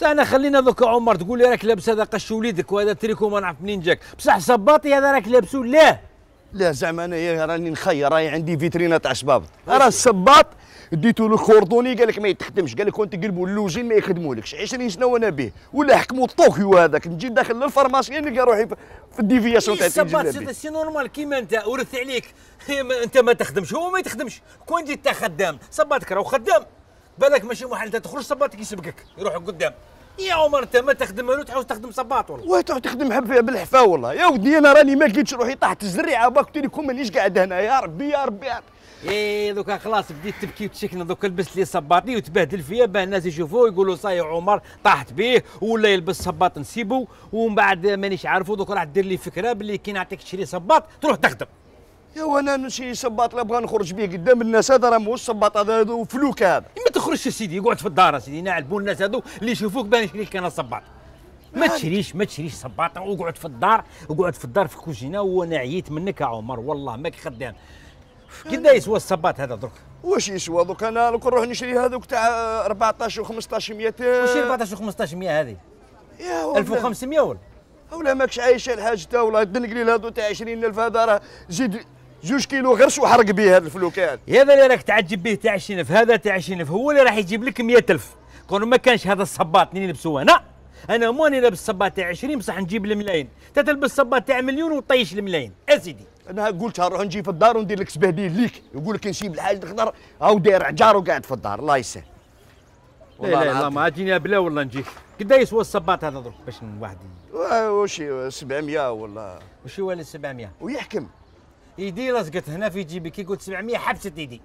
بصح انا خلينا دوك عمر تقول لي راك لابس هذا قش وليدك وهذا تريكو ما نعرف منين جاك، بصح صباطي هذا راك لابسو ليه؟ لا زعما انايا راني نخير، راهي عندي فيترينا تاع شباب، راه الصباط ديتو له كوردوني قال لك ما يتخدمش، قال لك كون تقلبوا اللوزين ما يخدمولكش، 20 سنه وانا به، ولا حكموا طوكيو هذاك، نجي داخل للفارماسي نلقى روحي في الديفياسيون تاع الصباط سي نورمال كيما انت ورث عليك، انت ما تخدمش هو ما يتخدمش، كون جيت انت خدام صباطك راهو خدام، بالك ماشي محل انت تخرج صباطك يسبقك يروح قدام. يا عمر انت ما تخدم والو تعاود تخدم صباط والله. واه تعود تخدم بالحفا والله، يا ودي انا راني ما لقيتش روحي طاحت الزريعه باك قلت لكم مانيش قاعد هنا، يا ربي يا ربي يا ربي. ايه دوكا خلاص بديت تبكي وتشكنا، دوكا لبست لي صباطي وتبهدل فيا باه الناس يشوفوه يقولوا صاي عمر طاحت به ولا يلبس صباط نسيبو، ومن بعد مانيش عارفو دوك راح دير لي فكره باللي كي نعطيك تشري صباط تروح تخدم. يا وانا نشري صباط لا بغا نخرج به قدام الناس، هذا راه ماهوش صباط، هذا فلوك هذا. ما تخرجش سيدي، قعد في الدار سيدي، نعلبوا الناس هذو اللي يشوفوك باه نشري لك انا صباط. ما تشريش صباط، وقعد في الدار، وقعد في الدار في الكوزينه، وانا عييت منك يا عمر والله ماك خدام. كدا يسوى الصباط هذا درك؟ واش يسوى دوك؟ انا لو كان نروح نشري هذوك تاع 14 و 1500. واش 14 و 1500 هذه؟ يا ولد 1500 ولا ماكش عايشه الحاج تا والله الدنقليل هذو تاع 20000 هذا راه زيد 2 كيلو غرس وحرق به هذا الفلوكات. هذا اللي راك تعجب به تاع 20000، هذا تاع 20000 هو اللي راح يجيب لك 100000. كون ما كانش هذا الصباط اللي نلبسوه انا ماني لابس صباط تاع 20 بصح نجيب الملايين، انت تلبس صباط تاع مليون وطيش الملايين اسيدي. انا قلت نروح نجي في الدار وندير لك سبهديل ليك، يقول لك نسيب الحاج الخضر هاو داير عجار وقاعد في الدار، الله يسهل. لا ما تجيني بلا والله نجيك. قدا يسوى الصباط هذا درك باش واحد؟ واش 700 ولا واش هو 700 ويحكم يدي لصقت هنا في جيبي، كي قلت 700 حبست يدي،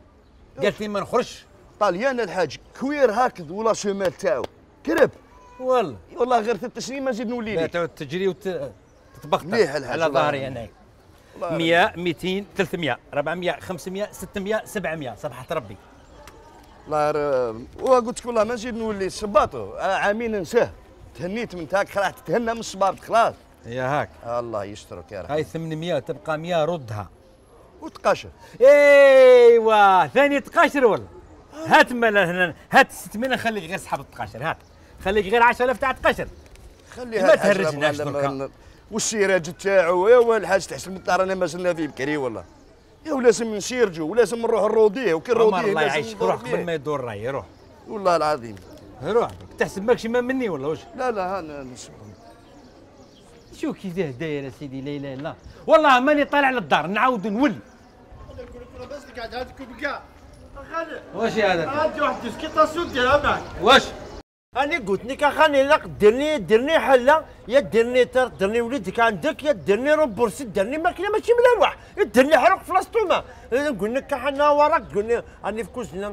قالت لي ما نخرجش. طاليان الحاج كوير هكذا ولا سومال تاعو كرب والله غير 3 سنين ما نزيد نولي لا تعود تجري وتتبختر على ظهري انا. 100 200 300 400 500 600 700 صبحة ربي. الله وقلت لك والله ما نزيد نولي صباطو، عامين ننساه، تهنيت من تاك خلاص تتهنى من الصباط خلاص. يا هاك الله يسترك يا رب. هاي 800 تبقى 100 ردها وتقاشر. ايوا ثاني تقاشر والله. هات هنا هات 600 خليك غير سحب التقاشر، هات خليك غير 10000 تاع تقاشر. خليها ما تهرجناش دركا. والسيراج تاعو يا الحاج تحسن من الدار انا ما زلنا فيه بكري والله. يا ولازم نسيرجو ولازم نروح نروديه، وكي نروديه الله يعيشك روح قبل ما يدور راي روح. والله العظيم روح تحسب ماكش ما مني ولا واش؟ لا انا نسمع. شو كي داير يا سيدي؟ لا اله الا الله والله ماني طالع للدار نعاود نولي. بس قاعد هذاك بكاع واش هذا؟ عندي واحد ديسكيطاسيون ديرها معك. واش؟ انا قلت لك اخاني لا ديرني حله، يا ديرني ديرني وليدك عندك، يا ديرني رومبورسي، ديرني ماكله ماشي ملاوح، ديرني حرق في لاستوما. نقول لك حنا وراك قلنا راني في كوزينه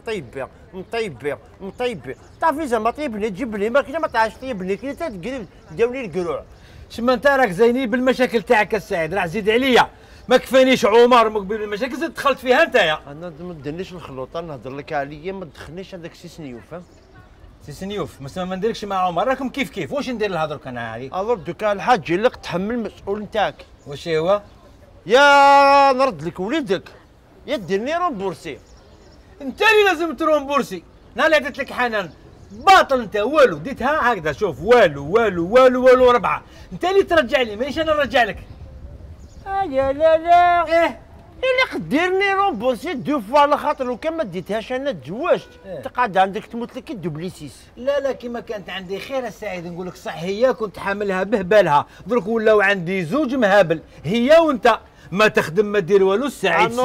نطيب بير تعرفي زعما طيب لي تجيب لي ماكله ما تعرفش طيب لي كي تقري داوني القروع. شما انت راك زيني بالمشاكل تاعك السعيد، راح زيد عليا ما كفانيش عمر مقبل المشاكل زدت دخلت فيها انت. انا ما ديرنيش الخلوطه نهضر لك عليا، ما تدخلنيش هذاك سي سنيوف فهمت؟ سي سنيوف ما نديركش مع عمر، راكم كيف واش ندير لها درك انا هذه؟ الور دوكا الحاج اللي تحمل المسؤول نتاعك. واش هو؟ يا نرد لك وليدك يا ديرني رومبورسي. انت اللي لازم ترومبورسي، انا اللي عطيت لك حنان باطل انت والو ديتها هكذا شوف والو 4، انت اللي ترجع لي مانيش انا نرجع لك. لا اللي قديرني رومبورسي دو فوا على خاطر لو كان ما ديتهاش انا تزوجت تقعد عندك تموت لك دوبليسيس. لا كيما كانت عندي خير السعيد نقول لك صح، هي كنت حاملها بهبالها درك ولاو عندي زوج مهابل، هي وانت ما تخدم ما دير والو. سعيد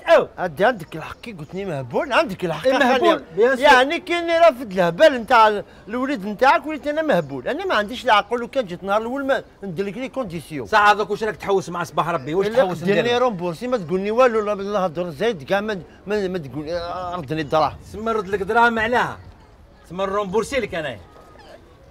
او عندك الحق كي قلتني مهبول، عندك الحق مهبول يعني كاني رافد الهبال نتاع الوليد نتاعك وليت انا مهبول. انا ما عنديش العقل، وكان جيت نهار الاول ما ندير لك لي كونديسيون. صح هذاك واش راك تحوس مع صباح ربي؟ واش تحوس ديرني رومبورسي ما تقولني والو لا هضر زايد كاع ما تقول ردني الدراهم. تسمى نرد لك دراهم عليها، تسمى نرومبورسي لك انايا.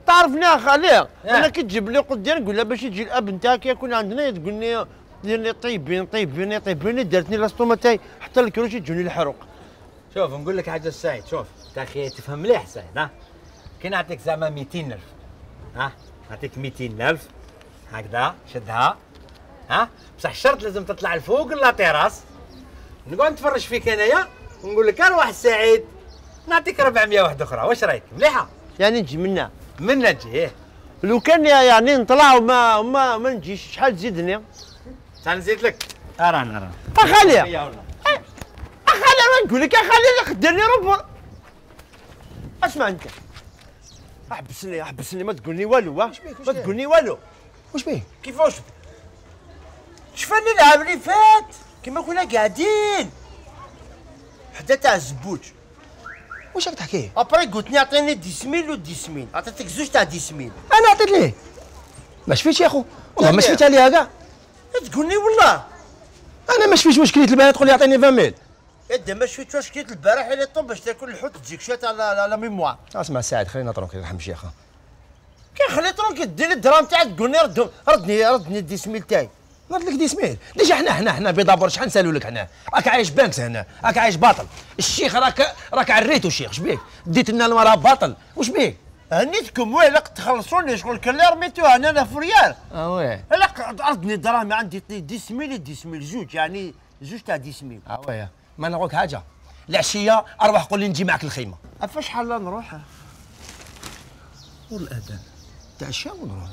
تعرفني يا خالي انا كي تجيب لي قدام نقول لها باش يجي الاب نتاعك يكون عندنا تقول لي ديرني طيبيني دارتني لاستوما تاعي حتى الكروشي تجوني الحروق. شوف نقول لك حاجه السعيد، شوف انت اخي تفهم مليح سعيد، كي نعطيك زعما 200000 نعطيك 200000 هكذا شدها بصح الشرط لازم تطلع لفوق لا تيراس، نقعد نتفرج فيك انايا ونقول لك ارواح السعيد نعطيك 400 واحده اخرى، واش رايك؟ مليحه يعني نجي منها من نجي لو كان يعني نطلع وما نجيش شحال تزيدني؟ تنزيد لك ارانا اخلي انا نقول لك اخلي ديرني روبور. اسمع انت احبسني ما تقولني والو ما تقولني والو. واش بيه؟ كيفاش شفنا العام اللي فات كيما كنا قاعدين حدا تاع الزبوج. واش راك تحكي؟ ابري قلت لي عطيني 10,000 و 10,000 عطيتك زوج تاع 10,000. انا عطيت ليه ما شفيتش يا خو والله ما شفيت عليها كاع. تقولني والله انا ما شفيتش واش كريت البارح تقول لي عطيني 20,000. يدا ما شفت واش كريت البارح اللي طب باش تاكل الحوت تجيك شويه تاع لا ميموار. اسمع سعد خلينا ترونكي رحم شيخه. كي خليت ترونكي دير لي الدراهم تاعك تقول لي ردني 10,000 تاعي. نرد لك 10,000 ديجا حنا بيضابور شحال نسالوا لك حنا راك عايش بانكس هنا راك عايش باطل. الشيخ راك عريتو الشيخ اش بيك ديت لنا المراه باطل واش بيك؟ هنيتكم ويلا تخلصوني شغل كان اللي رميتوها انا في ريال. واه لا ردني الدراهم عندي 10,000 زوج يعني زوج تاع 10,000. واه ما نقولك حاجه العشيه اروح قول لي نجي معك الخيمه. فاش حال نروح؟ والاذان تاع الشام ونروح.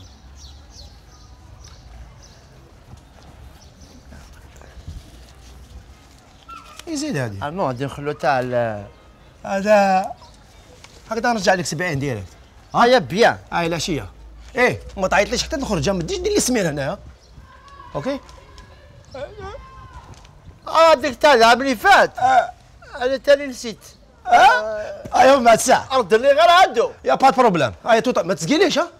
يزيد هذه نو غادي نخلو تاع هذا هكذا نرجع لك 70 ديريكت. يا بيان. هاي العشيه ايه ما تعيطليش حتى نخرج ما تجيش دير لي سمير هنا. اوكي هذيك تاع العام اللي فات انا تاني نسيت. ايوا بعد ساعه رد لي غير هادو يا با بروبليم. هاي توتا ما تسقيليش ها.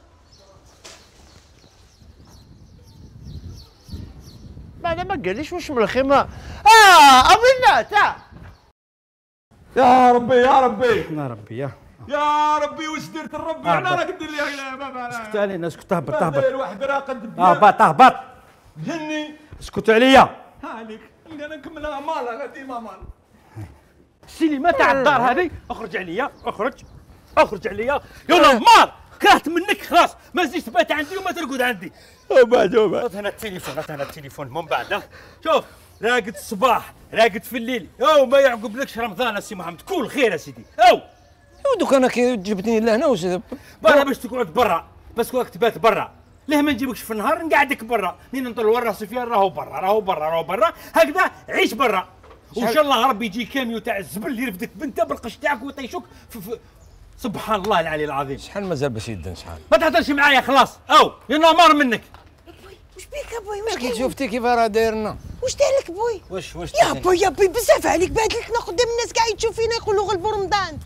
انا ما قاليش واش من الخيمه. امنا تاع يا ربي يا ربي يا ربي يا ربي واش درت الربي انا راك دير لي اسكت علينا اسكت اهبط الواحد راقد اهبط جني اسكت عليا. هانيك انا نكملها مالا غادي ما مال السينما تاع الدار هذه اخرج عليا اخرج عليا يلا مار كرهت منك خلاص ما تزيدش تبات عندي وما ترقد عندي. وبعد هات هنا التليفون من بعد شوف راقد الصباح راقد في الليل او ما يعقبلكش رمضان السي محمد كل خير يا سيدي او دوك انا كي جبتني لهنا واش برا باش تقعد برا بس راك تبات برا ليه ما نجيبكش في النهار نقعدك برا منين نطلعوا راسي فيها راهو برا هكذا عيش برا وان شاء الله ربي يجي كاميو تاع الزبل يرفدك بنته بالقش تاعك ويطيشوك سبحان الله العلي العظيم. شحال مازال باش يدن شحال ما تهضرش معايا خلاص او يلا مار منك. واش بيك ابوي واش كي شفتي كيف راه دايرنا واش دارلك بوي؟ واش يا بوي بزاف عليك بهدلتنا قدام الناس كاع يتشوف فينا يقولوا غلبوا رمضان.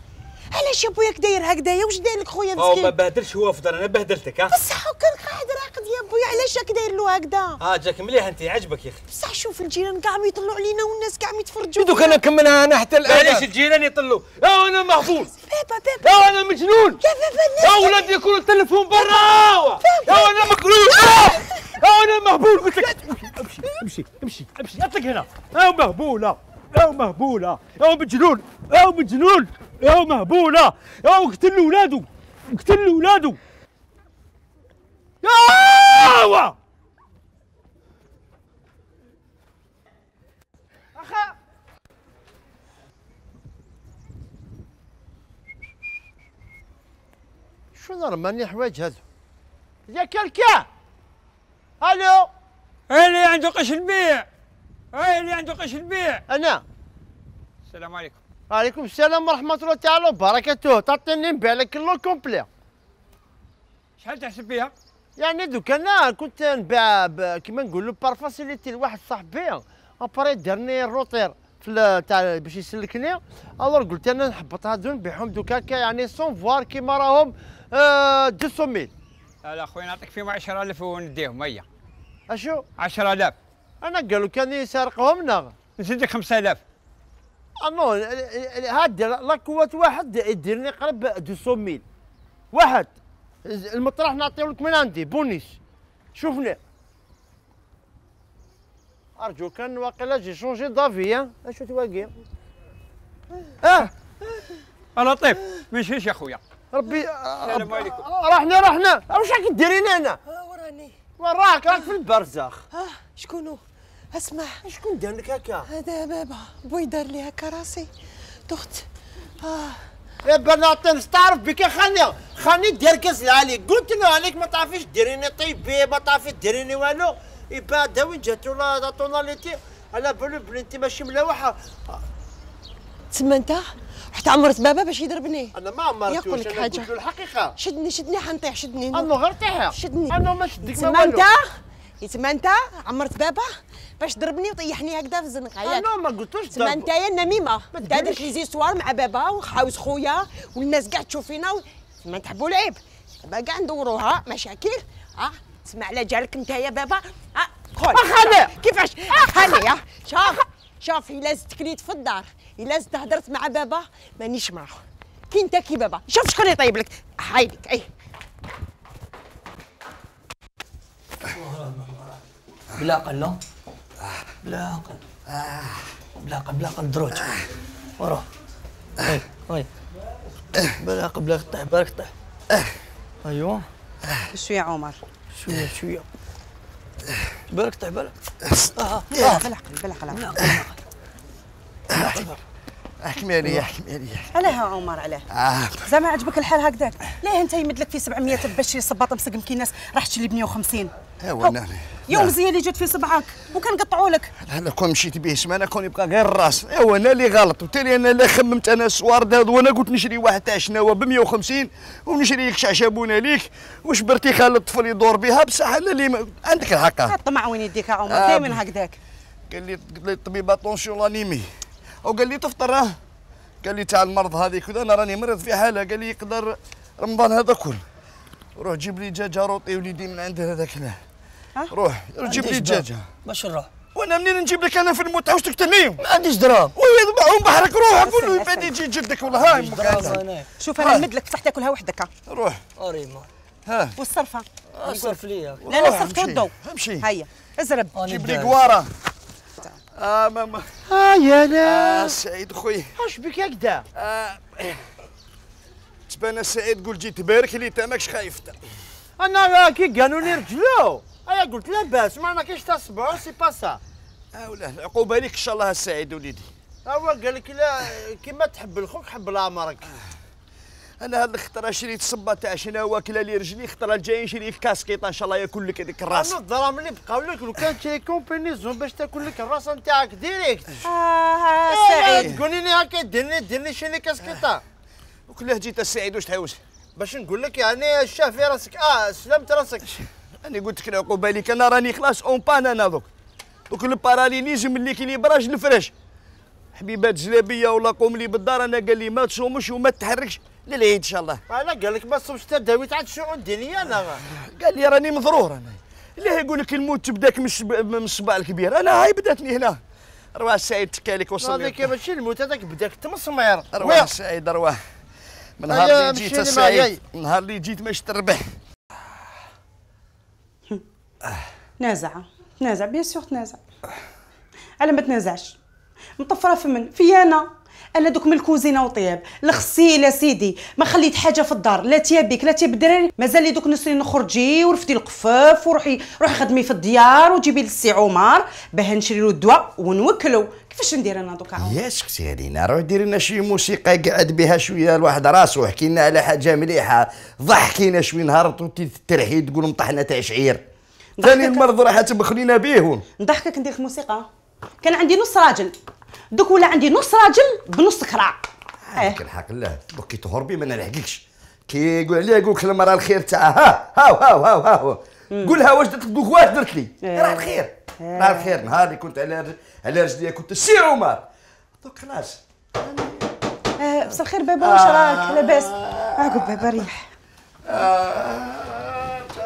علاش يا بويا داير هكذايا واش داير لك خويا مسكين؟ ما بهدلش هو فضل انا بهدلتك بصح كان قاعد راقد يا بويا علاش راك داير له هكذا؟ جاك مليح انت عجبك يا اخي. بصح شوف الجيران كاع يطلعوا علينا والناس كاع يتفرجوا. دوك انا نكملها انا حتى الان. علاش الجيران يطلوا انا مهبول بابا انا مجنون يا بابا يا ولادي يكونوا التليفون برا انا مكروه انا مهبول قلت لك امشي اطلق هنا يا مهبوله يا مجنون يا مهبوله يا اقتل ولادو يا اخا شنو رماني حوايج هذو يا كلكا. الو اللي عنده قش البيع انا. السلام عليكم. وعليكم السلام ورحمه الله تعالى وبركاته. تعطيني نبيع لك اللو كومبلي. شحال تحسب فيها؟ يعني دوك انا كنت نبيع كيما نقولوا بارفاسيليتي لواحد صاحبي ابري دارني الروطير في تاع باش يسلكني الور قلت انا نحبط هادو نبيعهم دوك هكا يعني سون فوار كيما راهم 200,000. لا خويا نعطيك فيهم 10,000 ونديهم هيا. اشو 10,000 انا قالوا كان يسرقهم لنا نزيدك 5,000. نو هاد لا قوة واحد يديرني قرب 200,000 واحد. المطرح نعطيه لك من عندي بونيس. شوفني ارجو كان واقيلا جي شونجي دافي. اشو تواقي لطيف ما يشفيش يا خويا. ربي السلام عليكم. رحنا واش راك ديرين هنا؟ وراني وراك راك في البرزخ. شكونو؟ اسمع شكون دار لك هكا؟ هذا بابا بوي دار لي هكا راسي دخت. يا بنات تعرف بك خاني دير كاس العالي قلت له عليك ما تعرفيش ديريني طيبي ما تعرفي ديريني والو يبا دا وين جاتو لا طوناليتي على بالو بنتي ماشي ملاوحه. تسمى انت رحت عمرت بابا باش يضربني. انا ما عمرتوش يقول لك انا حاجه قلت له الحقيقه. شدني حنطيح شدني انا غير طيح شدني انا ما شدك ما تسمى والو. تسمى انت عمرت بابا باش ضربني وطيحني هكذا في الزنقه ياك. انا ما قلتوش تسمى انت يا النميمه دارت لي زيستوار مع بابا وحاوس خويا والناس كاع تشوف فينا تسمى نتحبوا العيب دابا كاع ندوروها مشاكل. تسمع على جالك انت يا بابا خول خالي كيفاش خالي شوف الا زدت كليت في الدار الا زدت هضرت مع بابا مانيش معاه كي انت كي بابا شوف شكون يطيب لك حايلك اي بلا قل بلا قل بلا قل دروج وروح وي بلا قل بلا قطع بلا قطع ايوا شويه عمر شويه بلا قطع بلا بالعقل احكمي عليا علاه عمر علاه زعما عجبك الحال هكذاك ليه انت يمد لك فيه 700 باش شي صباط مسقم كي ناس راح تشري ب 150 ايوا انا يوم زي اللي جات في صبعك وكنقطعوا لك انا كون مشيت به سمانه كون يبقى غير الراس ايوا انا اللي غلط وتالي انا اللي خممت انا السوارد هذا وانا قلت نشري واحد تاع شناوه ب 150 ونشري لك شعشبونه ليك وشبرتي خالي الطفل يدور بها بصح انا اللي عندك الحق. الطمع وين يديك يا عمر دائما هكذاك. قال لي الطبيب اتونسيون لانيمي وقال لي تفطر قال لي تاع المرض هذيك كذا انا راني مريض في حاله قال لي يقدر رمضان هذا كل روح جيب لي دجاجه روطي وليدي من عند هذاك روح جيب لي دجاجه باش نروح وانا منين نجيب لك انا في الموت عاوز تقتلني ما عنديش دراهم ويذبحهم بحرك روح قول له يبان يجي جدك ولا هاي شوف انا نمد لك بصح تاكلها وحدك روح اريما والصرفه صرف ليا لا لا صرفت ودو امشي هيا ازرب جيب لي قواره ماما يا لا سعيد خويا واش بك هكذا تبان سعيد قول جيت بارك لي تا ماكش خايف انا كي قالوا لي رجلو انا قلت لاباس ما كاينش تاع الصبع سي با سا ولا العقوبه ليك ان شاء الله السعيد وليدي هو قال لك لا كيما تحب لخوك حب لعمرك. انا هاد الخطره شريت صبه تاع شنو واكله لي رجلي الخطره الجايه نشري لك كاسكيطه ان شاء الله ياكل لك هذيك الراس. انا الدراهم اللي بقاو لك لو كان تشري كومبينيزون باش تاكل لك الراس نتاعك ديريكت. سعيد تقولي لي هكا ديرني شري كاسكيطه وكلاه جيت السعيد واش تحوس باش نقول لك يعني الشاه في راسك سلمت راسك. انا قلت لك العقوبه ليك انا راني خلاص اون بان انا دوك الباراليليزم اللي كي لي براج الفراش حبيبات جلابيه ولا قوم لي بالدار انا قال لي ما تصومش وما تحركش للعيد ان شاء الله. انا قال لك ما تصومش حتى داويت عاد الشؤون الدينيه انا قال لي راني مضرور انا اللي يقول لك الموت تبداك من الصباع الكبير انا هاي بداتني هنا. رواه السعيد تكالك وصل هذاك ماشي الموت هذاك بداك تمسمير. رواه السعيد رواه من نهار اللي جيت السعيد نهار اللي جيت ماش تربح. تنازع بيان سور تنازع على ما تنازعش مطفره في انا دوك من الكوزينه وطياب الغسيل سيدي ما خليت حاجه في الدار لا تيابيك لا تياب الدراري مازال لي دوك نسري نخرجي ورفتي القفاف روحي خدمي في الديار وجيبي للسي عمر باه نشري له الدواء ونوكلو. كيفاش ندير انا دوكا يا سكتي علينا روح ديري لنا شي موسيقى قعد بها شويه الواحد راسو حكي لنا على حاجه مليحه ضحكينا شويه نهار ترحي تقول مطحنه تاع شعير ثاني المرض راح تبخلينا بيه نضحكك ندير الموسيقى. كان عندي نص راجل دوك ولا عندي نص راجل بنص كراع. عندك الحق لا دوك كي تهربي ما نلحقكش كي يقول عليا يقول لك المراه الخير تاعها هاو قولها واش درت دوك واش درت لي راه الخير راه الخير نهار اللي كنت على رجلي كنت السي عمر دوك خلاص بس الخير بابا واش راك لاباس عقب بابا ريح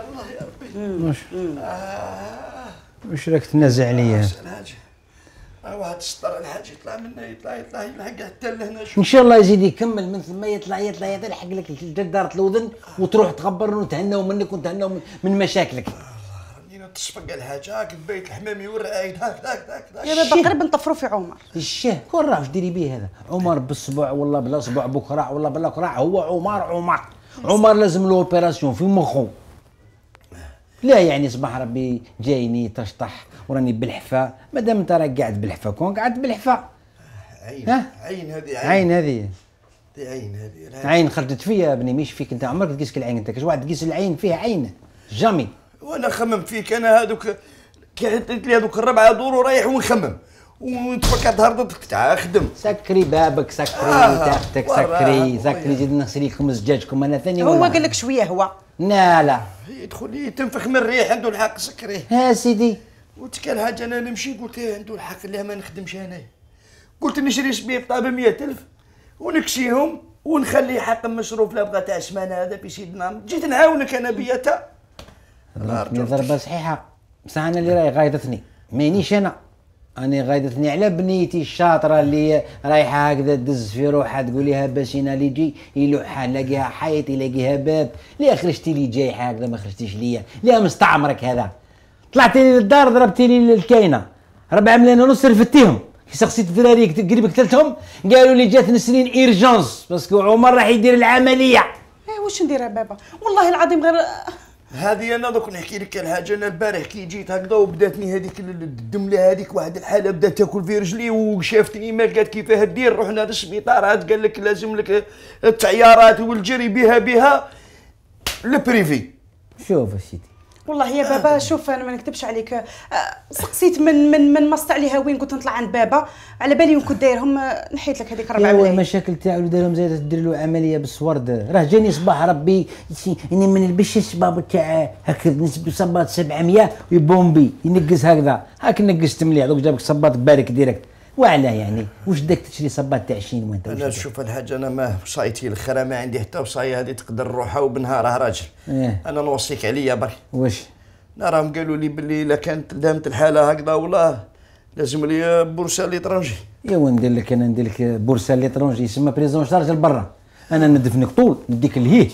الله يا ربي واش راك تنازع عليا؟ واحد السطر الحاج يطلع منه يطلع يلحق حتى لهنا ان شاء الله يزيد يكمل من ثم يطلع يلحق لك جدارة الاذن وتروح تخبر ونتهناو منك ونتهناو من مشاكلك. راني تصفق الحاجه هاك بيت الحمامي والرعايد هاك يا بابا قريب نطفروا في عمر. الشاه كون راه واش ديري بيه هذا؟ عمر بالصبع ولا بلا صبع بكره ولا بلا كراع هو عمر لازم له اوبيراسيون في مخو. لا يعني صباح ربي جايني تشطح وراني بالحفا مادام انت راك قاعد بالحفا كون قاعد بالحفا عين هذه عين هذه عين هذه عين خرجت فيا ابني، مش فيك انت، عمرك تقيس العين انت، كاش واحد تقيس العين فيها عين جامي. وانا خممت فيك انا هذوك كي حطيت لي هذوك الربعه دور ورايح ونخمم ونتفكرت هربتك تعال خدم. سكري بابك، سكري تاختك، سكري زيد نغسل لكم زجاجكم انا ثاني. هو قال لك شويه هو. لا يدخل تنفخ من الريح، عنده الحق سكريه. ها سيدي قلت كان حاجه انا نمشي، قلت عنده الحق لا ما نخدمش انا، قلت نشري سبيب طابه 100,000 ونكسيهم ونخلي حق مصروف لا بغى تاع السمانه هذا في سيدنا، جيت نعاونك انا بيتا. ضربه صحيحه، بصح انا اللي راهي غايضتني مانيش انا غايضتني على بنيتي الشاطره اللي رايحه هكذا دز في روحها تقول لها باشينا اللي يجي يلوحها يلاقيها حيط يلاقيها باب، لا خرجتي لي جاي هكذا ما خرجتيش ليا، لا مستعمرك هذا، طلعتي لي للدار ضربتي لي الكاينه 4 ملايين ونص رفدتيهم، كي سقسيت الدراري قريب قتلتهم قالوا لي جات نسرين ايرجونس باسكو عمر راح يدير العمليه. واش ندير يا بابا والله العظيم غير هذه انا دوك نحكي لك الحاجه. انا البارح كي جيت هكذا وبداتني هذيك الدمله هذيك واحد الحاله بدات تاكل في رجلي وشافتني ما قالت كيفاه دير، رحنا للسبيطار عاد قال لك لازم لك التعيارات والجري بها البريفي. شوف سيدي والله يا بابا شوف انا ما نكذبش عليك، سقسيت من مصط عليها وين كنت نطلع عند بابا على بالي وين كنت دايرهم، نحيت لك هذيك 4 ملايين. المشاكل تاعو اللي دارهم زايد تدير له عمليه بالسورد، راه جاني صباح ربي اني ما نلبسش الصباب تاع هكا نسبي صباط 700 ويبومبي ينقز هكذا، هاك نقزت مليح دوك جابك صباط بارك ديريكت، وعلاه يعني واش بدك تشري صباط تاع 20 وانت؟ انا شوف الحاجه انا ما وصايتي الاخرى ما عندي حتى وصايه هذه تقدر روحها وبنهارها راجل. انا نوصيك عليا برك. واش؟ راهم قالوا لي باللي الا كانت دامت الحاله هكذا والله لازم لي بورصه ليترونجي. ايوا ندير لك بورصه ليترونجي يسمى بريزون شارج لبرا، انا ندفنك طول نديك الهيج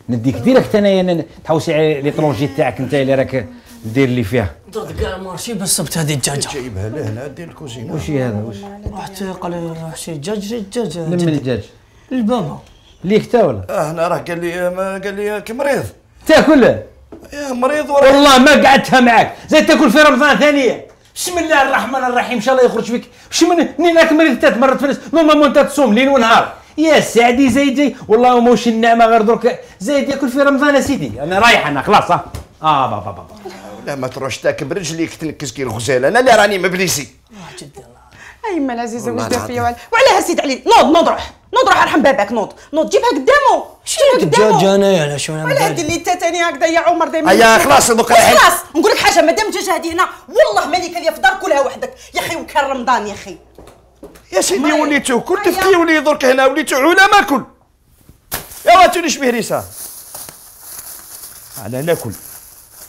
نديك ديريكت انايا تحوسي على ليترونجي تاعك انت اللي راك دير لي فيها. درت كاع مارشي بس سبت هذه الدجاجه جايبها لهنا دير الكوزينه. واش هذا واش؟ رحت قال لي شي دجاج من الدجاج البابا ليك تا ولا؟ هنا راه قال لي كمريض تاكل يا مريض والله ما قعدتها معاك زي تاكل في رمضان ثانيه. بسم الله الرحمن الرحيم ان شاء الله يخرج فيك. واش منين راك مريض 3 مرات في نورمالمون انت تصوم ليل ونهار يا سعدي زايد جاي والله موش النعمه غير درك زايد ياكل في رمضان يا سيدي. انا رايح انا خلاص بابا لا ما تروحش تاك برجليك تنكس كي الغزاله، انا اللي راني مبليسي. اي ما العزيزه واش دار فيا وعلاه سيد علي نوض روح ارحم باباك نوض جيبها قدامه شنو الدجاج انايا على شنو ولا دير لي انت ثاني هكذا يا عمر دايما. هيا خلاص دوك خلاص نقول لك حاجه مادام الدجاجه هذه هنا والله مالك ليا في دار كلها وحدك يا اخي وكان رمضان يا اخي. يا سيدي وليتو كل تفكي ولي درك هنا وليتو علا ماكل يا واتوني شبيه ريسا انا ناكل.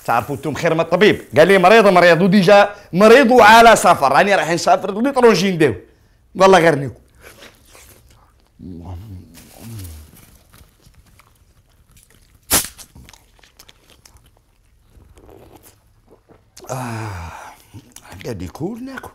تعرفوا انتم خير من الطبيب قال لي مريض وديجا مريض وعلى سفر راني رايح نسافر ليترونجي نداو والله غير ناكل. قاعد يكون ناكل.